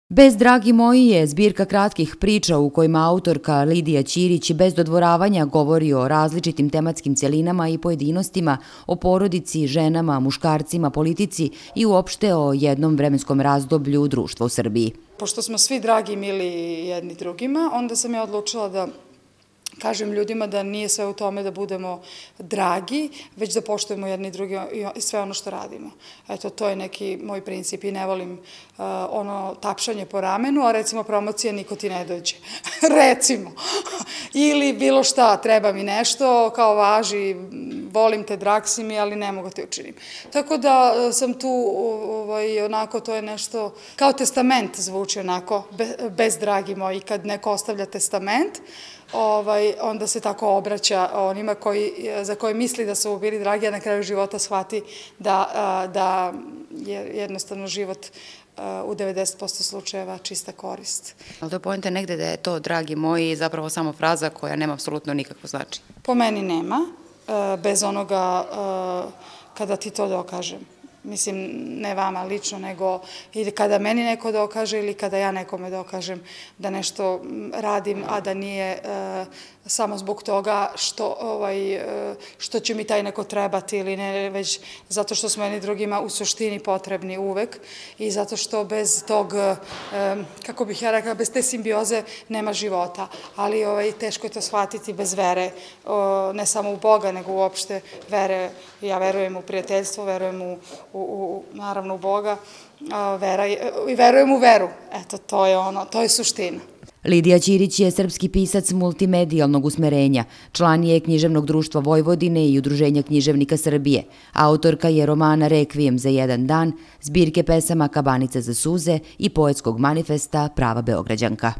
Bez dragi moji je zbirka kratkih priča u kojima autorka Lidija Ćirić bez dodvoravanja govori o različitim tematskim celinama i pojedinostima, o porodici, ženama, muškarcima, politici i uopšte o jednom vremenskom razdoblju društva u Srbiji. Pošto smo svi dragi i mili jedni drugima, onda sam ja odlučila da kažem ljudima da nije sve u tome da budemo dragi, već da poštujemo jedni drugi i sve ono što radimo. Eto, to je neki moj princip i ne volim ono tapšanje po ramenu, a recimo promocija niko ti ne dođe. Recimo. Ili bilo šta, treba mi nešto, kao važi, volim te, drag si mi, ali ne mogu te učinim. Tako da sam tu, onako, to je nešto, kao testament zvuči onako, bez dragi moji, kad neko ostavlja testament, onda se tako obraća onima za koje misli da su bili dragi, a na kraju života shvati da je jednostavno život u 90% slučajeva čista korist. Ali to pojente negde da je to, dragi moji, zapravo samo fraza koja nema apsolutno nikakvo značenje? Po meni nema, bez onoga kada ti to dokažem. Mislim, ne vama lično, nego ili kada meni neko dokaže ili kada ja nekome dokažem da nešto radim, a da nije samo zbog toga što će mi taj neko trebati ili ne, već zato što smo jedni drugima u suštini potrebni uvek i zato što bez tog, kako bih ja rekla, bez te simbioze nema života. Ali teško je to shvatiti bez vere, ne samo u Boga, nego uopšte vere. Ja verujem u prijateljstvo, verujem naravno u Boga i verujem u veru. Eto, to je suština. Lidija Ćirić je srpski pisac multimedijalnog usmerenja, član je Književnog društva Vojvodine i Udruženja književnika Srbije. Autorka je romana Rekvijem za jedan dan, zbirke pesama Kabanica za suze i poetskog manifesta Prava Beograđanka.